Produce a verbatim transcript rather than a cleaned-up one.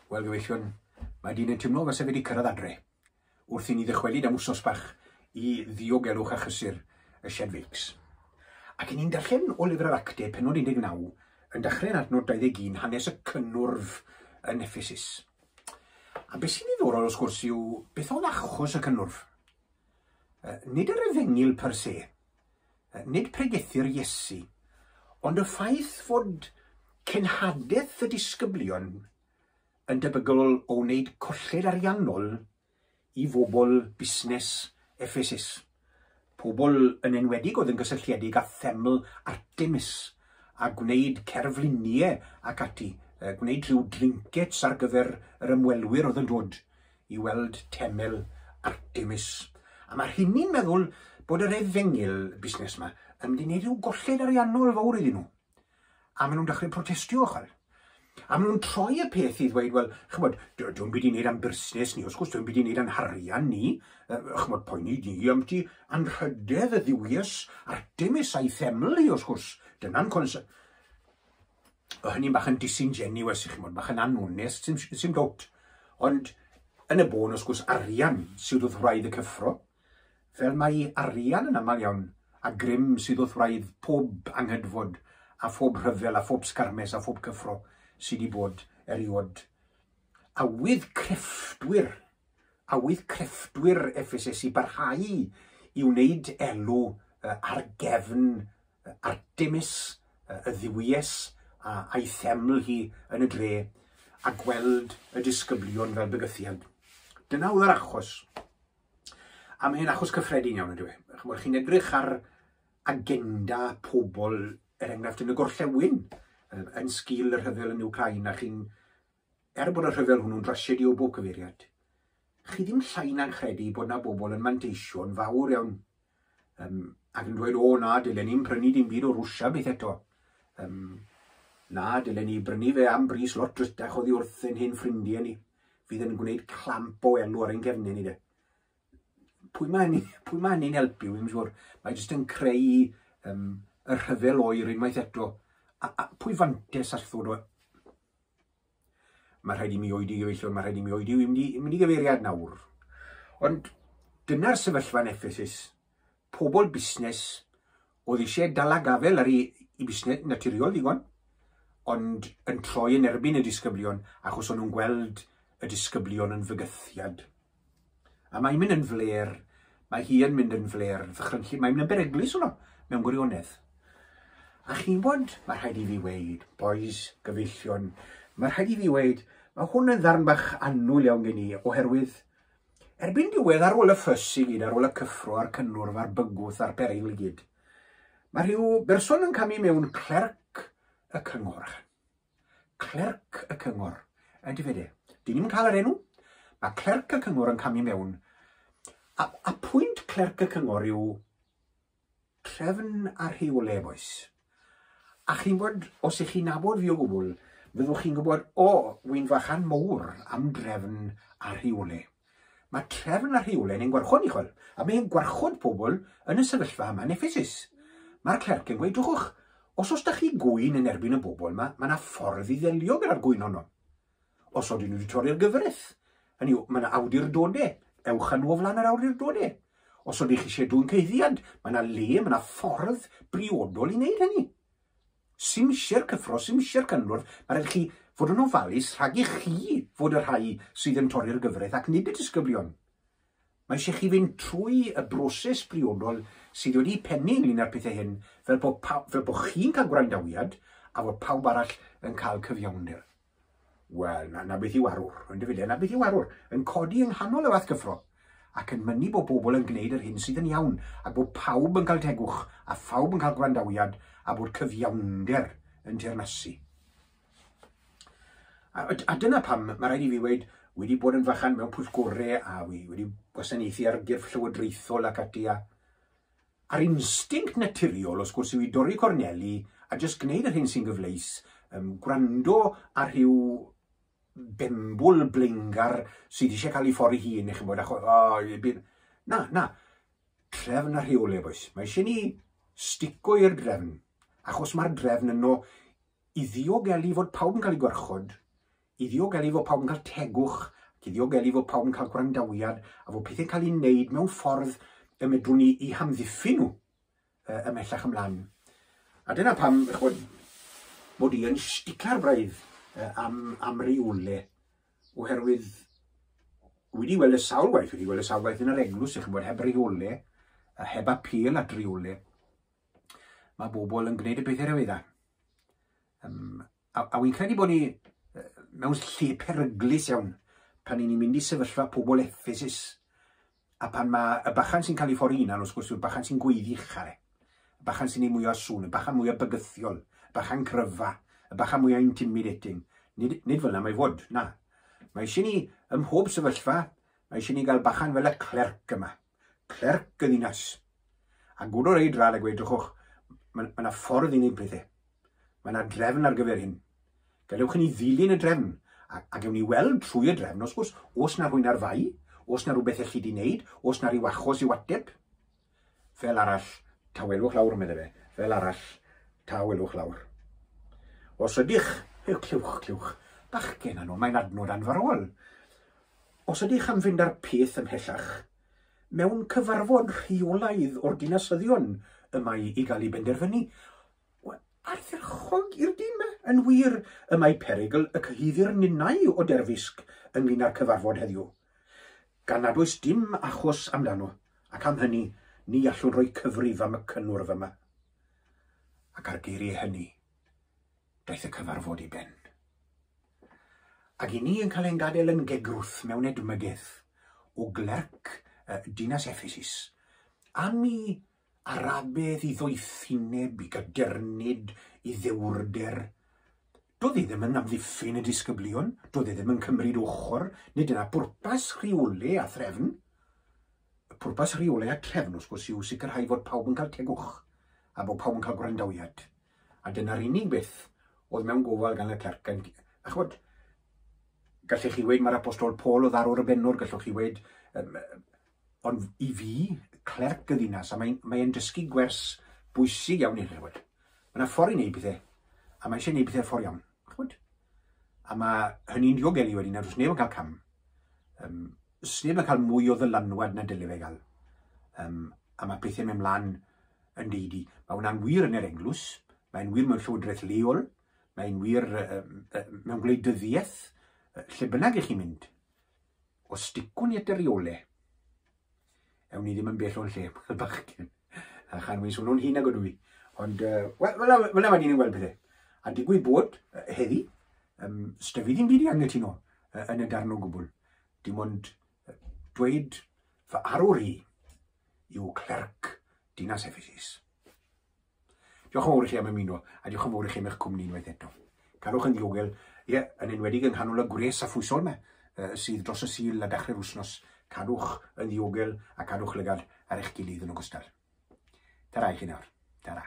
Wel, gyfeillion, mae dyn yn teimlo fel se fe wedi cyrraedd adre, wrth i ni ddychwelyd am wsos bach i ddiogelwch a chysur y shed feics. Ac i ni'n darllen o lyfr yr Actau, pennod un deg naw, yn dechrau yn adnod dau ddeg un, hanes y cynnwrf yn Ephesus. A beth sy'n ddiddorol, wrth gwrs, yw beth oedd achos y cynnwrf. Nid yr efengyl per se, nid pregethu'r Iesu, ond y ffaith fod cenhadaeth y disgyblion yn debygol o wneud colled ariannol i bobl busnes Ephesus. Pobl yn enwedig oedd yn gysylltiedig â theml Artemis a gwneud cerfluniau ac ati, gwneud rhyw drinkets ar gyfer yr ymwelwyr oedd yn dod i weld teml Artemis. A mae rhywun meddwl bod yr efengyl busnes yma yn mynd i wneud rhyw golled ariannol fawr iddyn nhw. A maen nhw'n dechrau protestio, chwel. A maen nhw'n troi y peth i ddweud, wel, chymod, dwi'n byd i wneud am busnes ni, wrth gwrs, dwi'n byd i wneud am harian ni, chymod, poeni ni am ti anrhydedd y dduwies Artemis a'i theml hi, wrth gwrs, dyna'n cons... O, hynny'n bach yn disingenuous, chymod, bach yn anonest, sim, sim dot. Ond yn y bôn, wrth gwrs, arian sydd wrth wraidd y cyffro, fel mae arian yn aml iawn, a grym sydd wrth wraidd pob anghydfod, a phob rhyfel, a phob sgarmes, a phob cyffro sydd wedi bod eriod. Awydd crefftwyr, awydd crefftwyr Ephesus i barhau i wneud elw ar gefn Artemis, y dduwies, a'i theml hi yn y dre, a gweld y disgyblion fel bygythiad. Dyna oedd yr achos. A mae hyn achos cyffredin iawn, yndyw e. Chimod, chi'n edrych ar agenda pobl, er enghraifft yn y gorllewin, yn sgil y rhyfel yn Wcráin, a chi'n, er bod y rhyfel hwnnw'n drasiedi o bob cyfeiriad, chi ddim llai na'n credu bod na bobl yn manteisio'n fawr iawn, um, ac yn dweud, o na, dylen ni'n prynu dim byd o Rwsia beth eto. Um, na, dylen ni brynu fe am bris lot drytach oddi wrth ein hen ffrindiau ni, fydd yn gwneud clamp o elw ar ein cefnau ni de. Pwy mae hynny, pwy mae hynny'n helpu, wi'm siŵr. Mae jyst yn creu um, y rhyfel oer unwaith eto. A, a pwy fantes all ddod o... Mae rhaid i mi oedi, gyfeillion, mae rhaid i mi oedi, wi'n mynd i, mynd i gyfeiriad nawr. Ond dyna'r sefyllfa yn Ephesus. Pobl busnes oedd eisiau dal a gafel ar ei, ei busnes naturiol ddigon, ond yn troi yn erbyn y disgyblion, achos o'n nhw'n gweld y disgyblion yn fygythiad. A mae'n mynd yn fler, mae hi yn mynd yn fler, ddychrynllyd, mae'n mynd yn beryglus hwnnw, mewn gwirionedd. A chi'n bod, mae rhaid i fi weid, boys, gyfeillion, mae rhaid i fi weid, mae hwn yn ddarn bach annwyl iawn gen i, oherwydd erbyn diwedd ar ôl y ffys i gyd, ar ôl y cyffro a'r cynnwrf a'r bygwth a'r perygl i gyd, mae rhyw berson yn camu mewn, clerc y cyngor. Clerc y cyngor, ydy fe de. Dyn ni'm yn cael yr enw. Mae clerc y cyngor yn camu mewn. A, a pwynt clerc y cyngor yw trefn a rheolau, boys. A chi'n bod, os ych chi'n nabod fi o gwbl, fyddwch chi'n gwybod, o, wy'n fachan mowr am drefn a rheolau. Mae trefn a rheolau yn ein gwarchod ni, chwel. A mae'n gwarchod pobl yn y sefyllfa yma yn Ephesus. Mae'r clerc yn gweud, dwchwch, os oes da chi gwyn yn erbyn y bobl yma, mae yna ffordd i ddelio gyda'r gwyn honno. Os oedden nhw wedi torri'r gyfraith, hynny yw, mae yna awdurdodau, ewch â nhw o flaen yr awdurdodau. Os oeddech chi eisiau dwyn cyhuddiad, mae yna le, mae yna ffordd briodol i wneud hynny. Sim isie'r cyffro, sim isie'r cynnwrf, mae rhaid chi fod yn ofalus rhag i chi fod y rhai sydd yn torri'r gyfraith ac nid y disgyblion. Mae eisiau chi fynd trwy y broses briodol sydd wedi pennu ynglyn â'r pethau hyn, fel bod, fel bod chi'n cael gwrandawiad a bod pawb arall yn cael cyfiawnder. Wel, na, na beth yw arwr, yn dy na beth yw arwr, yn codi yng nghanol y fath gyffro, ac yn mynnu bod bobl yn gwneud yr hyn sydd yn iawn, a bod pawb yn cael tegwch, a phawb yn cael gwrandawiad, a bod cyfiawnder yn teyrnasu. A, a dyna pam mae rhaid i fi weid, wedi bod yn fachan mewn pwyllgorau, a wi wedi gwasanaethu ar gyrff llywodraethol ac ati, a a'r instinct naturiol, wrth gwrs, yw i dorri corneli, a jyst gwneud yr hyn sy'n gyfleus, um, gwrando ar rhyw bembwl blingar sydd eisiau cael ei ffordd ei hun, eich bod, achos, oh, bydd... Na, na, trefn a rheolau, boys. Mae eisiau ni stico i'r drefn, achos mae'r drefn yno i ddiogelu fod pawb yn cael ei gwarchod, I ddiogelu fod pawb yn cael tegwch, ac i ddiogelu fod pawb yn cael gwrandawiad, a fod pethau'n cael ei wneud mewn ffordd y medrwn ni i hamddiffyn nhw ymhellach ymlaen. A dyna pam, ch'mod, mod i yn sticla'r braidd am, am reole, oherwydd wedi weld y sawl waith, wedi weld y sawl waith yn yr eglwys, ch'mod, heb reole, a heb apêl at reole, mae bobl yn gwneud y pethau rhyfedda. Um, a, a wy'n credu bod ni mewn lle peryglus iawn pan ni'n mynd i sefyllfa pobl Ephesus, a pan mae y bachan sy'n cael ei ffordd hunan, wrth gwrs, yw'r bachan sy'n gweiddi uchel, y bachan sy'n ei mwy o sŵn, y bachan mwy o bygythiol, y bachan cryfa, y bachan mwy o intimidating. Nid, nid fel yna mae fod, na. Mae eisiau ni, ym mhob sefyllfa, mae eisiau ni gael bachan fel y clerc yma. Clerc y ddinas. A gwrdd o'r ei drad a gweud, drychwch, mae yna ffordd i wneud pethau. Mae yna drefn ar gyfer hyn. Gadewch i ni ddilyn y drefn. A, a gewn ni weld trwy y drefn, wrth gwrs, os na rhywun ar fai, os na rhywbeth elli di wneud, os na rhyw achos i'w ateb. Fel arall, tawelwch lawr, medde fe. Fel arall, tawelwch lawr. Os ydych, clywch, clywch, bachgen anno, mae'n adnod anfarwol. Os ydych am fynd â'r peth ymhellach, mewn cyfarfod rheolaidd o'r dinasyddion y mae i gael ei benderfynu, ardderchog i'r dyn yma. Yn wir, y mae perygl y cyhuddir ninnau o derfysg ynglyn â'r cyfarfod heddiw. Gan nad oes dim achos amdano, ac am hynny, ni allwn roi cyfrif am y cynnwrf yma. Ac ar geiriau hynny, daeth y cyfarfod i ben. Ac i ni yn cael ein gadael yn gegrwth mewn edmygedd o glerc uh, dinas Ephesus, am i arabedd, i ddoethineb, i gadernid, i ddewrder. Doedd e ddim yn amddiffyn y disgyblion, doedd e ddim yn cymryd ochr, nid yna pwrpas rheole a threfn. Y pwrpas rheole a trefn, wrth gwrs, yw sicrhau fod pawb yn cael tegwch a bod pawb yn cael gwrandawiad. A dyna'r unig beth oedd mewn gofal gan y clerc. A ch'mod, gallech chi weud mae'r apostol Paul oedd arwr y bennwr, gallwch chi weud, um, ond i fi, clerc y ddinas, a mae'n mae dysgu gwers bwysig iawn i chi, ch'mod. Mae yna ffordd i wneud pethau, a mae eisiau gwneud pethau ffordd iawn, ch'mod. A mae hynny'n diogelu wedyn, a does neb yn cael cam. Um, sneb yn cael mwy o ddylanwad na dyle fe gael. Um, a mae pethau mynd mlaen yn deidi. Mae hwnna'n wir yn yr eglwys, mae'n wir mewn llywodraeth leol, mae'n wir uh, uh, mewn gwleidyddiaeth, lle bynnag i chi'n mynd. Os sticwn ni at y reole, ewn ni ddim yn bell o'n lle, fel bachgen. A chan wy'n swnio'n hŷn nag ydw i. Ond, uh, wel, fel yna mae ni'n gweld pethau. A digwydd bod, uh, heddi, um, sdyfu ddim byd i anghytuno uh, yn y darn o gwbl. Dim ond uh, dweud fy arwr i yw clerc dinas Ephesus. Diolch yn fawr i chi am ymuno, a diolch yn fawr i chi am eich cwmni unwaith eto. Cadwch yn ddiogel, ie, yn enwedig yng nghanol y gwres a phwysol yma, uh, sydd dros y Sul a dechrau'r wythnos. Cadwch yn ddiogel a cadwch lygad ar eich gilydd yn ogystal. Tara i chi nawr. Tara.